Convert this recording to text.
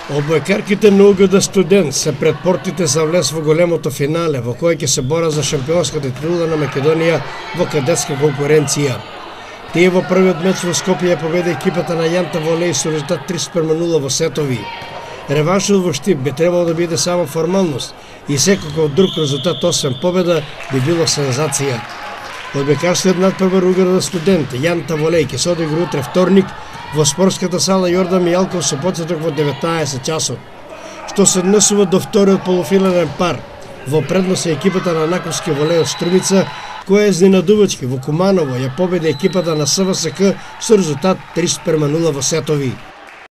Одбојкарките на УГД Студент се пред портите за влез во големото финале, во кој ќе се бора за шампионската титула на Македонија во кадетска конкуренција. Тие во првиот меч во Скопје победи екипата на Јанта Волеј со резултат 3:0 во сетови. Реваншот во Штип би требало да биде само формалност и секако друг резултат освен победа би било сензација. Одбојкарскиот надпревар УГД Студент Јанта Волеј ќе се одигра утре вторник во спортската сала Јордан Мијалков со почеток во 19 часот, што се однесува до вториот полуфинален пар. Во предност е екипата на Наковски Волеј од Струмица, која изненадувачки во Куманово ја победи екипата на СВСК со резултат 3:0 во сетови.